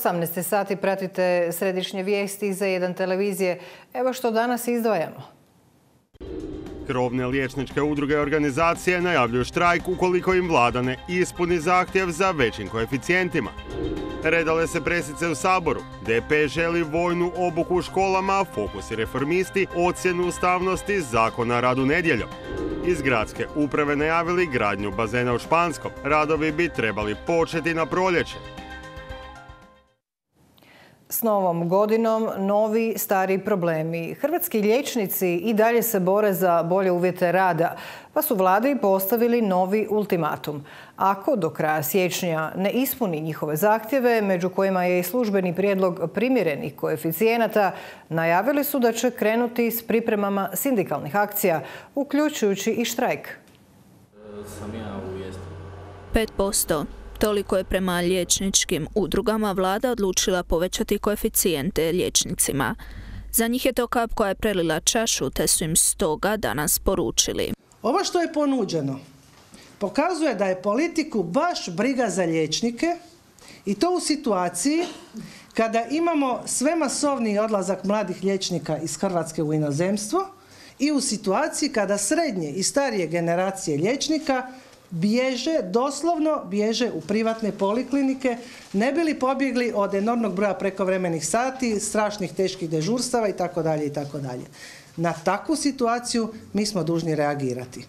18 sati pratite središnje vijesti za jedan televizije. Evo što danas izdvajamo. Krovne liječničke udruge i organizacije najavljuju štrajk ukoliko im vlada ne ispuni zahtjev za većim koeficijentima. Redale se presice u Saboru. DP želi vojnu obuku u školama, a Fokus i Reformisti ocjenu ustavnosti zakona o radu nedjeljom. Iz gradske uprave najavili gradnju bazena u Španskom. Radovi bi trebali početi na proljeće. S novom godinom novi stari problemi. Hrvatski liječnici i dalje se bore za bolje uvjete rada, pa su vladi postavili novi ultimatum. Ako do kraja siječnja ne ispuni njihove zahtjeve, među kojima je i službeni prijedlog primjerenih koeficijenata, najavili su da će krenuti s pripremama sindikalnih akcija, uključujući i štrajk. 5%. Toliko je prema liječničkim udrugama vlada odlučila povećati koeficijente liječnicima. Za njih je to kap koja je prelila čašu, te su im stoga danas poručili. Ovo što je ponuđeno pokazuje da je politiku baš briga za liječnike i to u situaciji kada imamo sve masovniji odlazak mladih liječnika iz Hrvatske u inozemstvo i u situaciji kada srednje i starije generacije liječnika doslovno bježe u privatne poliklinike, ne bi li pobjegli od enormnog broja prekovremenih sati, strašnih teških dežurstava itd. itd. Na takvu situaciju mi smo dužni reagirati.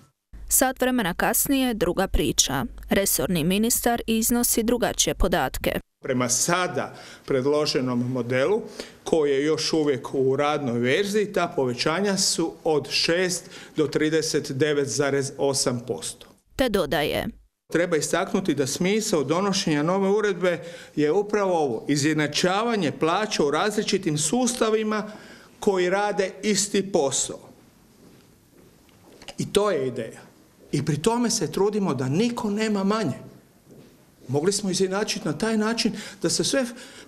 Sat vremena kasnije druga priča. Resorni ministar iznosi drugačije podatke. Prema sada predloženom modelu, koji je još uvijek u radnoj verziji, ta povećanja su od 6 do 39,8%. Te dodaje. Treba istaknuti da smisao donošenja nove uredbe je upravo ovo, izjednačavanje plaća u različitim sustavima koji rade isti posao. I to je ideja. I pri tome se trudimo da niko nema manje. Mogli smo izjednačiti na taj način da se sve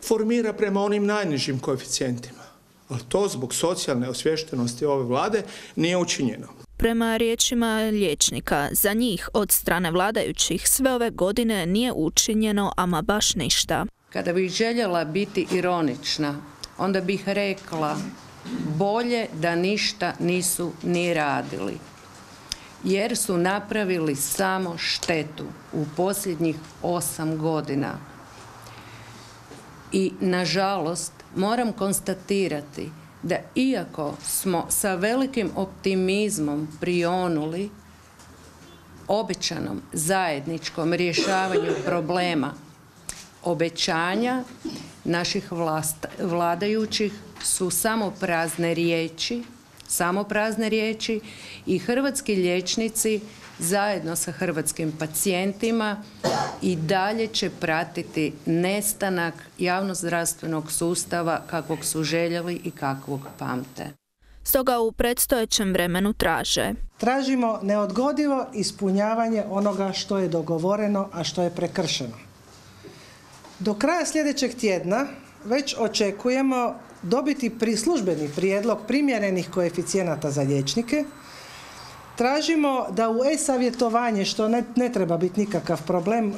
formira prema onim najnižim koeficijentima. Ali to zbog socijalne osviještenosti ove vlade nije učinjeno. Prema riječima liječnika, za njih od strane vladajućih sve ove godine nije učinjeno ama baš ništa. Kada bih željela biti ironična, onda bih rekla bolje da ništa nisu ni radili, jer su napravili samo štetu u posljednjih 8 godina. I nažalost moram konstatirati da iako smo sa velikim optimizmom prionuli obećanom zajedničkom rješavanju problema, obećanja naših vladajućih su samo prazne riječi i hrvatski liječnici zajedno sa hrvatskim pacijentima i dalje će pratiti nestanak javnozdravstvenog sustava kakvog su željeli i kakvog pamte. Stoga u predstojećem vremenu tražimo neodgodivo ispunjavanje onoga što je dogovoreno, a što je prekršeno. Do kraja sljedećeg tjedna već očekujemo dobiti službeni prijedlog primjerenih koeficijenata za liječnike. Tražimo da u e-savjetovanje, što ne treba biti nikakav problem,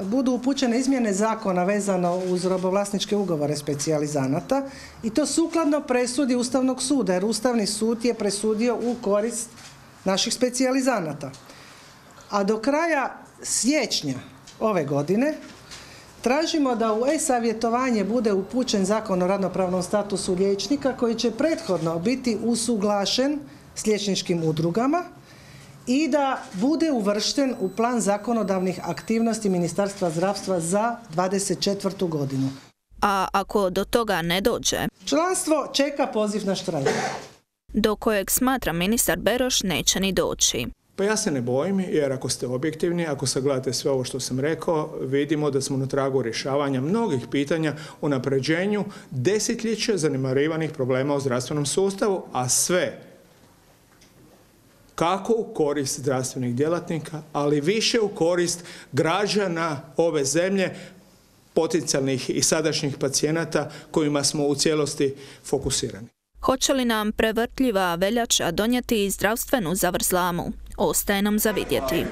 budu upućene izmjene zakona vezano uz robovlasničke ugovore specijalizanata i to sukladno presudi Ustavnog suda, jer Ustavni sud je presudio u korist naših specijalizanata. A do kraja siječnja ove godine tražimo da u e-savjetovanje bude upućen Zakon o radnopravnom statusu liječnika koji će prethodno biti usuglašen s liječničkim udrugama i da bude uvršten u plan zakonodavnih aktivnosti Ministarstva zdravstva za 2024. godinu. A ako do toga ne dođe? Članstvo čeka poziv na štrajk. Do kojeg smatra ministar Beroš neće ni doći. Pa ja se ne bojim, jer ako ste objektivni, ako sagledate sve ovo što sam rekao, vidimo da smo na tragu rješavanja mnogih pitanja o unapređenju desetljeća zanemarivanih problema u zdravstvenom sustavu, a sve kako u korist zdravstvenih djelatnika, ali više u korist građana ove zemlje, potencijalnih i sadašnjih pacijenata kojima smo u cijelosti fokusirani. Hoće li nam prevrtljiva veljača donijeti zdravstvenu zavrzlamu? Ostaje nam za vidjeti.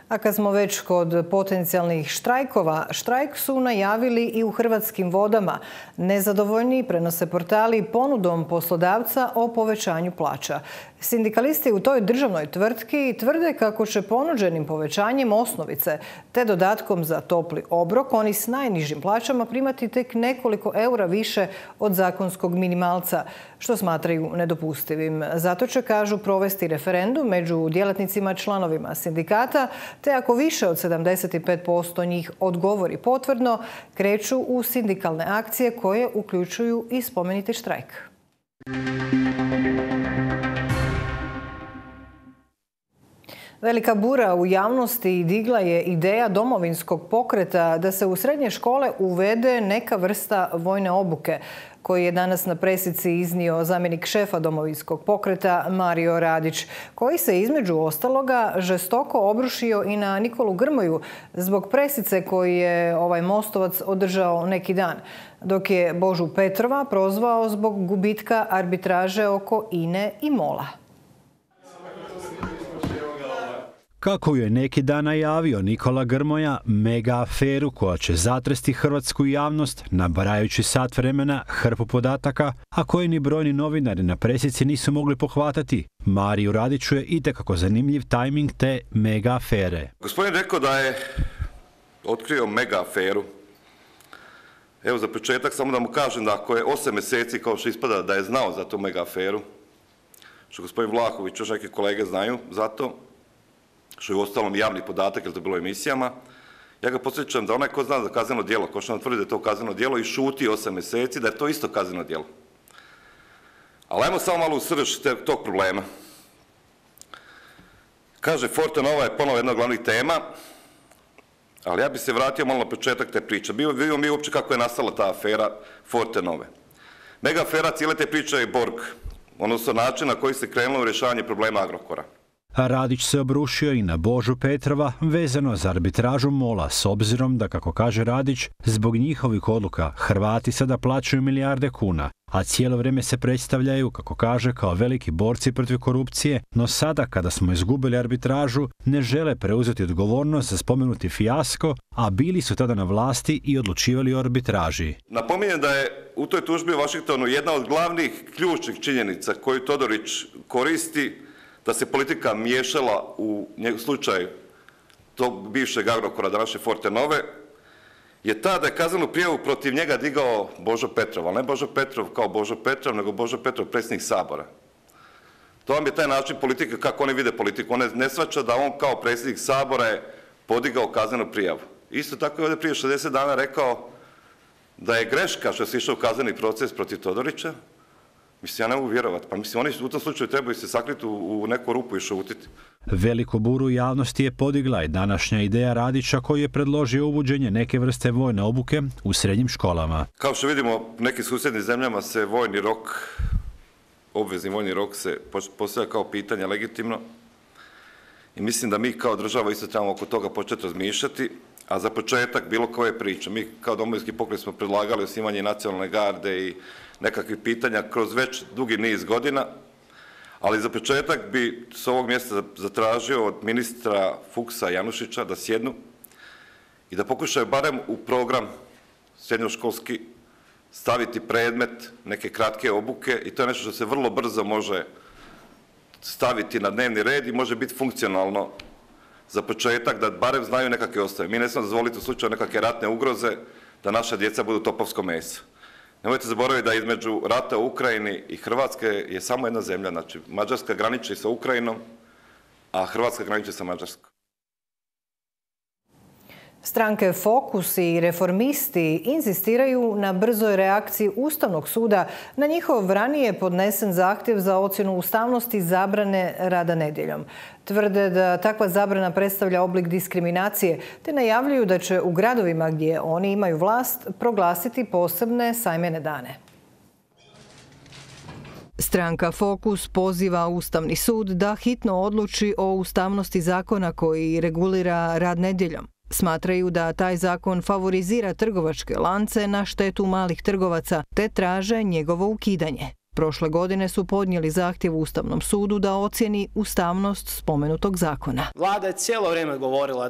A kad smo već kod potencijalnih štrajkova, štrajk su najavili i u Hrvatskim vodama. Nezadovoljni prenose portali ponudom poslodavca o povećanju plaća. Sindikalisti u toj državnoj tvrtki tvrde kako će ponuđenim povećanjem osnovice te dodatkom za topli obrok oni s najnižim plaćama primati tek nekoliko eura više od zakonskog minimalca, što smatraju nedopustivim. Zato će, kažu, provesti referendum među djelatnicima članovima sindikata, te ako više od 75% njih odgovori potvrdno, kreću u sindikalne akcije koje uključuju i spomenuti štrajk. Velika bura u javnosti digla je ideja Domovinskog pokreta da se u srednje škole uvede neka vrsta vojne obuke, koji je danas na presici iznio zamjenik šefa Domovinskog pokreta Mario Radić, koji se između ostaloga žestoko obrušio i na Nikolu Grmoju zbog presice koji je ovaj Mostovac održao neki dan, dok je Božu Petrova prozvao zbog gubitka arbitraže oko INE i MOL-a. Kako je neki dan najavio Nikola Grmoja, mega aferu koja će zatresti hrvatsku javnost, nabrajajući sat vremena hrpu podataka, a koje ni brojni novinari na presici nisu mogli pohvatati. Mariju Radiću je itekako zanimljiv tajming te mega afere. Gospodin rekao da je otkrio mega aferu. Evo za početak samo da mu kažem da ako je 8 mjeseci, kao što ispada, da je znao za tu mega aferu, što gospodin Vlahović, još neki kolege znaju za to, što je u ostalom javni podatak, jer to je bilo u emisijama, ja ga podsjećam da onaj ko zna za kazneno djelo, ko što nam tvrdi da je to kazneno djelo i šuti 8 mjeseci, da je to isto kazneno djelo. Ali ajmo samo malo u srž tog problema. Kaže, Fortenova je ponovo jedna od glavnih tema, ali ja bi se vratio malo na početak te priče. Vidimo mi uopće kako je nastala ta afera Fortenove. Mega afera cijele te priče je Borg, odnosno način na koji se krenulo u rješavanje problema Agrokora. Radić se obrušio i na Božu Petrova vezano za arbitražu MOL-a, s obzirom da, kako kaže Radić, zbog njihovih odluka Hrvati sada plaćaju milijarde kuna, a cijelo vrijeme se predstavljaju, kako kaže, kao veliki borci protiv korupcije, no sada, kada smo izgubili arbitražu, ne žele preuzeti odgovornost za spomenuti fijasko, a bili su tada na vlasti i odlučivali o arbitraži. Napominjem da je u toj tužbi u Washingtonu jedna od glavnih ključnih činjenica koju Todorić koristi da se politika miješala u slučaj tog bivšeg Agrokora, današnje Fortenove, je ta da je kaznenu prijavu protiv njega digao Božo Petrov, ali ne Božo Petrov kao Božo Petrov, nego Božo Petrov, predsjednik Sabora. To vam je taj način politike, kako oni vide politiku. On ne shvaća da on kao predsjednik Sabora je podigao kaznenu prijavu. Isto tako je ovdje prije 60 dana rekao da je greška što se išao u kazneni proces protiv Todorića. Mislim, ja ne mogu vjerovati. Pa mislim, oni u tom slučaju trebaju se sakriti u neku rupu i šutiti. Veliku buru u javnosti je podigla i današnja ideja Radića koji je predložio uvođenje neke vrste vojne obuke u srednjim školama. Kao što vidimo, u nekim susjednim zemljama se vojni rok, obvezni vojni rok se postavlja kao pitanje legitimno. I mislim da mi kao država isto trebamo oko toga početi razmišljati. A za početak bilo koje priče. Mi kao Domovinski pokret smo predlagali osnivanje nacionalne garde i nekakvih pitanja kroz već dugi niz godina, ali za početak bi s ovog mjesta zatražio od ministra Fuchsa Janušića da sjednu i da pokušaju barem u program srednjoškolski staviti predmet neke kratke obuke i to je nešto što se vrlo brzo može staviti na dnevni red i može biti funkcionalno za početak da barem znaju nekakve osnove. Mi ne smijemo dozvoliti u slučaju nekakve ratne ugroze da naša djeca budu topovsko meso. Nemojte zaboraviti da između rata u Ukrajini i Hrvatske je samo jedna zemlja, znači Mađarska graniči sa Ukrajinom, a Hrvatska graniči sa Mađarskom. Stranke Fokus i Reformisti inzistiraju na brzoj reakciji Ustavnog suda na njihov ranije podnesen zahtjev za ocjenu ustavnosti zabrane rada nedjeljom. Tvrde da takva zabrana predstavlja oblik diskriminacije, te najavljuju da će u gradovima gdje oni imaju vlast proglasiti posebne sajmene dane. Stranka Fokus poziva Ustavni sud da hitno odluči o ustavnosti zakona koji regulira rad nedjeljom. Smatraju da taj zakon favorizira trgovačke lance na štetu malih trgovaca, te traže njegovo ukidanje. prošle godine su podnijeli zahtjev Ustavnom sudu da ocjeni ustavnost spomenutog zakona. Vlada je cijelo vrijeme govorila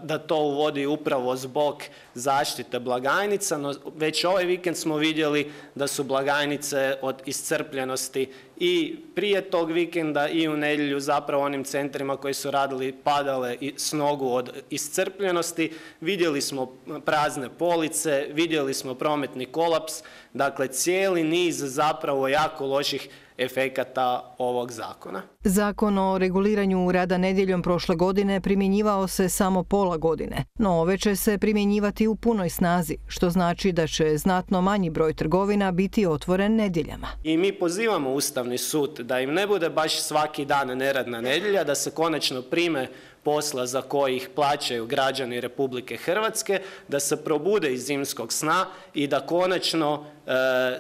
da to uvodi upravo zbog zaštite blagajnica, no već ovaj vikend smo vidjeli da su blagajnice od iscrpljenosti i prije tog vikenda i u nedjelju zapravo onim centrima koji su radili padale s nogu od iscrpljenosti. Vidjeli smo prazne police, vidjeli smo prometni kolaps, dakle cijeli niz zapravo jako loših efekata ovog zakona. Zakon o reguliranju rada nedjeljom prošle godine primjenjivao se samo pola godine, no ove će se primjenjivati u punoj snazi, što znači da će znatno manji broj trgovina biti otvoren nedjeljama. I mi pozivamo Ustavni sud da im ne bude baš svaki dan neradna nedjelja, da se konačno prime posla za koji ih plaćaju građani Republike Hrvatske, da se probude iz zimskog sna i da konačno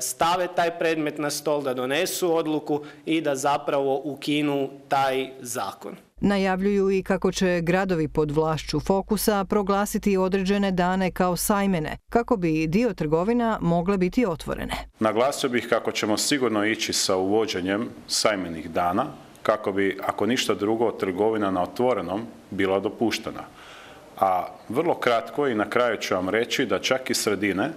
stave taj predmet na stol, da donesu odluku i da zapravo ukinu taj zakon. Najavljuju i kako će gradovi pod vlašću Fokusa proglasiti određene dane kao sajmene, kako bi dio trgovina mogle biti otvorene. Naglasio bih kako ćemo sigurno ići sa uvođenjem sajmenih dana, kako bi, ako ništa drugo, trgovina na otvorenom bila dopuštena. A vrlo kratko i na kraju ću vam reći da čak i sredine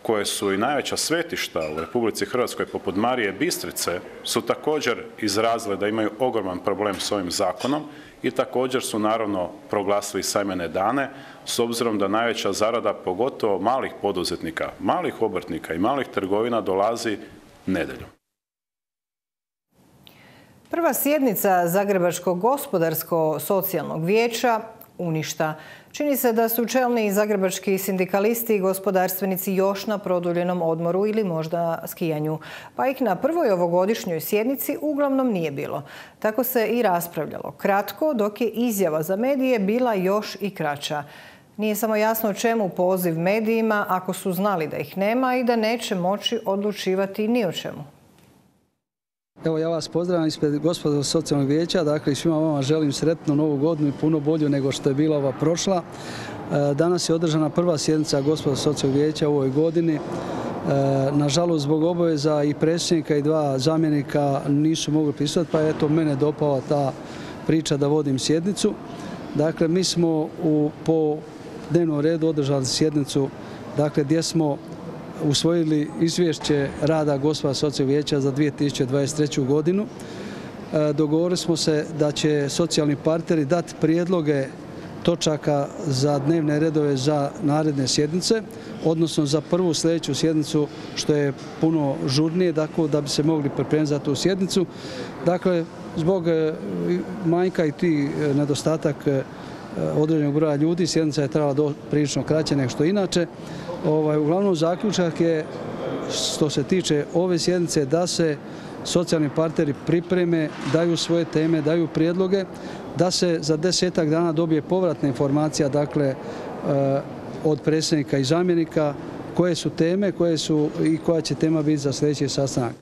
koje su i najveća svetišta u Republici Hrvatskoj poput Marije Bistrice su također izrazile da imaju ogroman problem s ovim zakonom i također su naravno proglasili sajmene dane s obzirom da najveća zarada pogotovo malih poduzetnika, malih obrtnika i malih trgovina dolazi nedjeljom. Prva sjednica Zagrebačkog gospodarsko-socijalnog vijeća uništa. Čini se da su čelni zagrebački sindikalisti i gospodarstvenici još na produljenom odmoru ili možda skijanju, pa ih na prvoj ovogodišnjoj sjednici uglavnom nije bilo. Tako se i raspravljalo kratko, dok je izjava za medije bila još i kraća. Nije samo jasno čemu poziv medijima ako su znali da ih nema i da neće moći odlučivati ni o čemu. Evo, ja vas pozdravljam ispred Gospodarskog socijalnog vijeća, dakle svima vama želim sretnu novu godinu i puno bolju nego što je bila ova prošla. Danas je održana prva sjednica Gospodarskog socijalnog vijeća u ovoj godini. Nažalost, zbog obaveza i predsjednika i dva zamjenika nisu mogli prisustvovati, pa je eto mene dopala ta priča da vodim sjednicu. Dakle, mi smo po dnevnom redu održali sjednicu, dakle gdje smo usvojili izvješće rada Gospodarskog socijalnog vijeća za 2023. godinu. Dogovorili smo se da će socijalni partneri dati prijedloge točaka za dnevne redove za naredne sjednice, odnosno za prvu sljedeću sjednicu što je puno žurnije, tako da bi se mogli pripremiti za tu sjednicu. Dakle, zbog manjka i ti nedostatak određenog broja ljudi, sjednica je trebala prilično kraće nego što inače. Uglavnom zaključak je, što se tiče ove sjednice, da se socijalni partneri pripreme, daju svoje teme, daju prijedloge, da se za 10-ak dana dobije povratna informacija, dakle, od predsjednika i zamjenika, koje su teme, i koja će tema biti za sljedeći sastanak.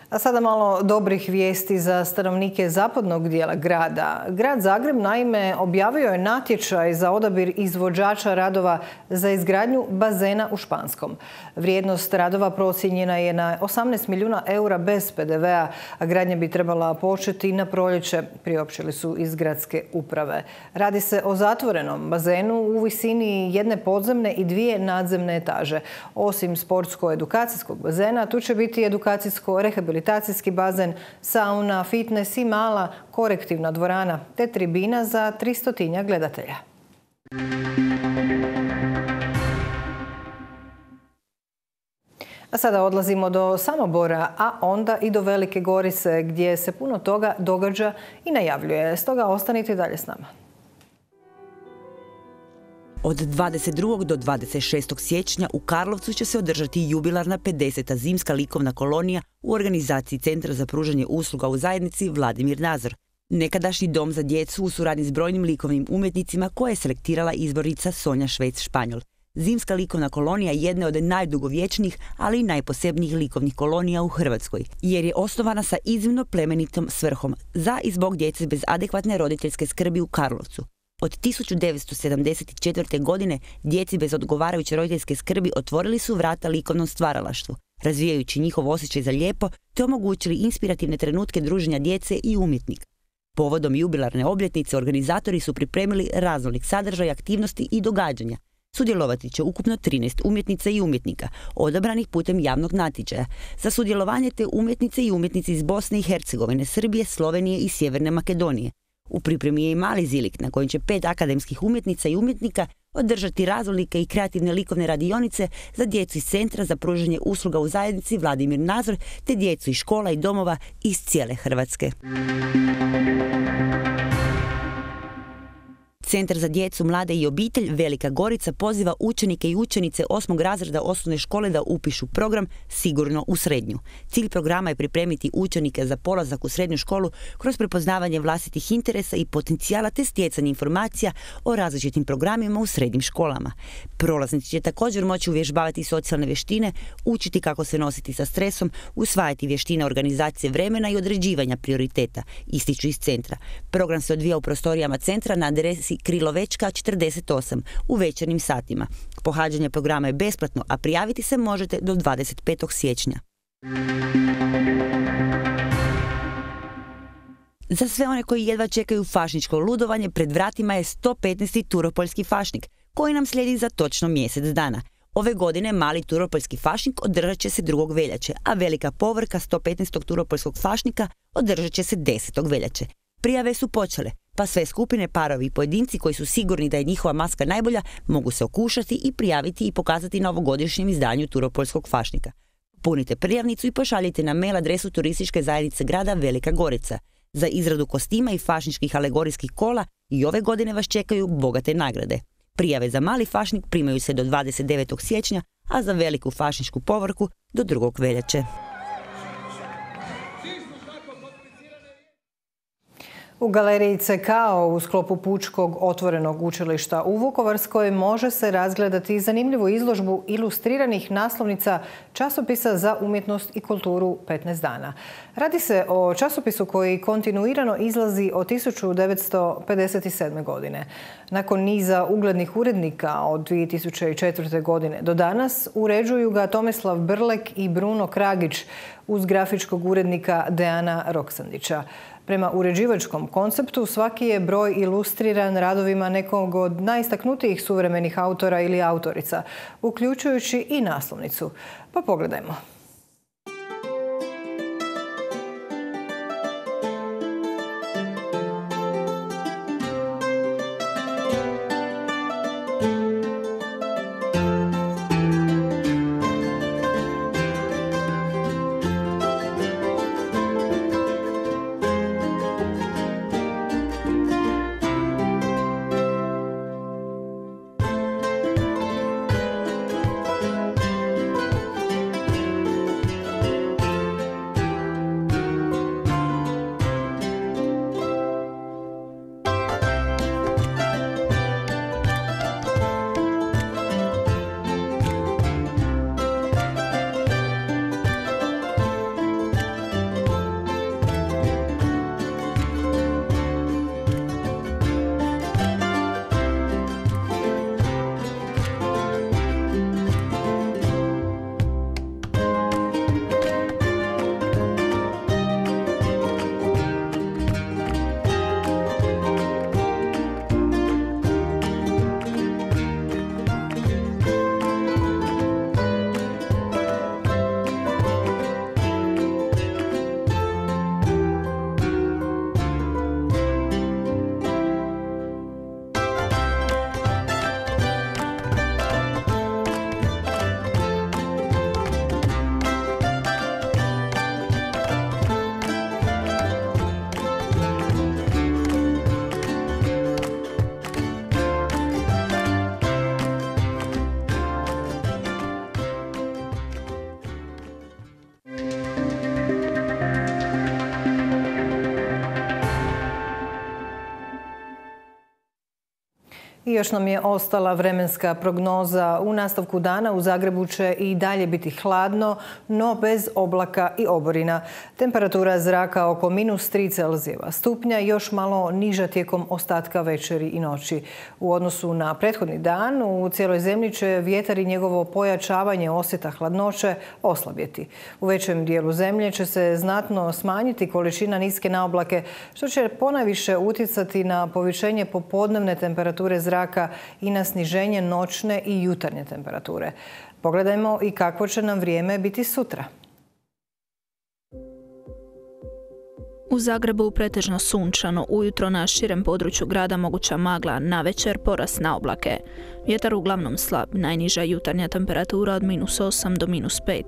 A sada malo dobrih vijesti za stanovnike zapadnog dijela grada. Grad Zagreb naime objavio je natječaj za odabir izvođača radova za izgradnju bazena u Španskom. Vrijednost radova procijenjena je na 18 milijuna eura bez PDV-a, a gradnja bi trebala početi na proljeće, priopćili su iz gradske uprave. Radi se o zatvorenom bazenu u visini jedne podzemne i dvije nadzemne etaže. Osim sportsko-edukacijskog bazena, tu će biti edukacijsko-rehabilitacijski bazen, sauna, fitness i mala korektivna dvorana, te tribina za 300 gledatelja. A sada odlazimo do Samobora, a onda i do Velike Gorice, gdje se puno toga događa i najavljuje. Stoga ostanite dalje s nama. Od 22. do 26. siječnja u Karlovcu će se održati jubilarna 50. zimska likovna kolonija u organizaciji Centra za pružanje usluga u zajednici Vladimir Nazor. Nekadašnji dom za djecu u suradnji s brojnim likovnim umjetnicima koje je selektirala izbornica Sonja Švec-Španjol. Zimska likovna kolonija je jedna od najdugovječnijih, ali i najposebnijih likovnih kolonija u Hrvatskoj, jer je osnovana sa iznimno plemenitom svrhom za i zbog djece bez adekvatne roditeljske skrbi u Karlovcu. Od 1974. godine djeci bez odgovarajuće roditeljske skrbi otvorili su vrata likovnom stvaralaštvu, razvijajući njihov osjećaj za lijepo te omogućili inspirativne trenutke druženja djece i umjetnika. Povodom jubilarne obljetnice organizatori su pripremili raznolik sadržaj, aktivnosti i događanja. Sudjelovati će ukupno 13 umjetnica i umjetnika, odabranih putem javnog natječaja. Za sudjelovanje te umjetnice i umjetnici iz Bosne i Hercegovine, Srbije, Slovenije i Sjeverne Makedonije. U pripremi je i mali zilik na kojem će 5 akademskih umjetnica i umjetnika održati raznolike i kreativne likovne radionice za djecu iz Centra za pružanje usluga u zajednici Vladimir Nazor te djecu iz škola i domova iz cijele Hrvatske. Centar za djecu, mlade i obitelj Velika Gorica poziva učenike i učenice 8. razreda osnovne škole da upišu program Sigurno u srednju. Cilj programa je pripremiti učenike za polazak u srednju školu kroz prepoznavanje vlastitih interesa i potencijala te stjecanje informacija o različitim programima u srednjim školama. Prolaznici će također moći uvježbavati socijalne vještine, učiti kako se nositi sa stresom, usvajati vještine organizacije vremena i određivanja prioriteta, ističu iz centra. Program se odvija u prostorijama centra na adresi Krilovečka 48 u večernjim satima. Pohađanje programa je besplatno, a prijaviti se možete do 25. siječnja. Za sve one koji jedva čekaju fašničko ludovanje, pred vratima je 115. Turopoljski fašnik, koji nam slijedi za točno mjesec dana. Ove godine mali Turopoljski fašnik održat će se 2. veljače, a velika povorka 115. Turopoljskog fašnika održat će se 10. veljače. Prijave su počele, pa sve skupine, parovi i pojedinci koji su sigurni da je njihova maska najbolja mogu se okušati i prijaviti i pokazati na ovogodišnjem izdanju Turopoljskog fašnika. Punite prijavnicu i pošaljite na mail adresu turističke zajednice grada Velika Gorica. Za izradu kostima i fašničkih alegorijskih kola i ove godine vas čekaju bogate nagrade. Prijave za mali fašnik primaju se do 29. siječnja, a za veliku fašničku povorku do 2. veljače. U galeriji CKO u sklopu Pučkog otvorenog učilišta u Vukovarskoj može se razgledati zanimljivu izložbu ilustriranih naslovnica časopisa za umjetnost i kulturu 15 dana. Radi se o časopisu koji kontinuirano izlazi od 1957. godine. Nakon niza uglednih urednika od 2004. godine do danas uređuju ga Tomislav Brlek i Bruno Kragić uz grafičkog urednika Dejana Roksandića. Prema uređivačkom konceptu svaki je broj ilustriran radovima nekog od najistaknutijih suvremenih autora ili autorica, uključujući i naslovnicu. Pa pogledajmo. I još nam je ostala vremenska prognoza. U nastavku dana u Zagrebu će i dalje biti hladno, no bez oblaka i oborina. Temperatura zraka oko -3 Celzijeva stupnja, još malo niža tijekom ostatka večeri i noći. U odnosu na prethodni dan u cijeloj zemlji će vjetar i njegovo pojačavanje osjeta hladnoće oslabjeti. U većem dijelu zemlje će se znatno smanjiti količina niske naoblake, što će ponajviše utjecati na povišenje popodnevne temperature zraka i na sniženje noćne i jutarnje temperature. Pogledajmo i kakvo će nam vrijeme biti sutra. U Zagrebu pretežno sunčano, ujutro na širem području grada moguća magla, navečer porast na oblake. Vjetar uglavnom slab, najniža jutarnja temperatura od -8 do -5,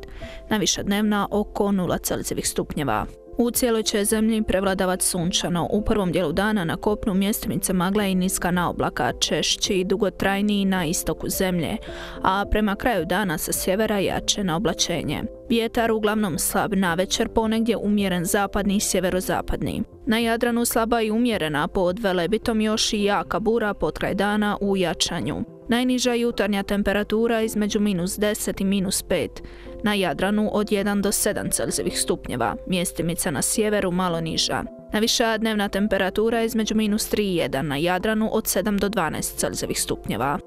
najviša dnevna oko 0 Celzijevih stupnjeva. U cijeloj će zemlji prevladavati sunčano. U prvom dijelu dana na kopnu mjestimice magla i niska naoblaka, češći i dugotrajniji na istoku zemlje, a prema kraju dana sa sjevera jače na oblačenje. Vjetar uglavnom slab, navečer ponegdje umjeren zapadni i sjeverozapadni. Na Jadranu slaba i umjerena, pod Velebitom još i jaka bura potkraj dana u jačanju. Najniža jutarnja temperatura između -10 i -5, na Jadranu od 1 do 7 Celzijevih stupnjeva, mjestimica na sjeveru malo niža. Najviša dnevna temperatura između -3 i 1, na Jadranu od 7 do 12 Celzijevih stupnjeva.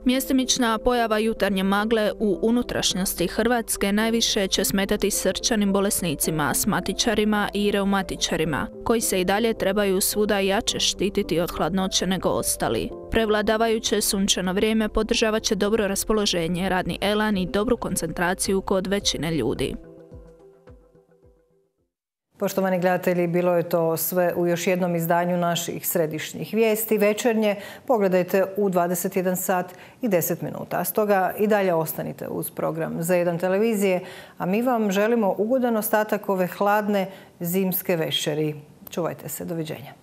Mjestimična pojava jutarnje magle u unutrašnjosti Hrvatske najviše će smetati srčanim bolesnicima, astmatičarima i reumatičarima, koji se i dalje trebaju svuda jače štititi od hladnoće nego ostali. Prevladavajuće sunčano vrijeme podržavat će dobro raspoloženje, radni elan i dobru koncentraciju kod većine ljudi. Poštovani gledatelji, bilo je to sve u još jednom izdanju naših središnjih vijesti. Večernje pogledajte u 21 sat i 10 minuta. Stoga i dalje ostanite uz program Z1 televizije, a mi vam želimo ugodan ostatak ove hladne zimske večeri. Čuvajte se, doviđenja.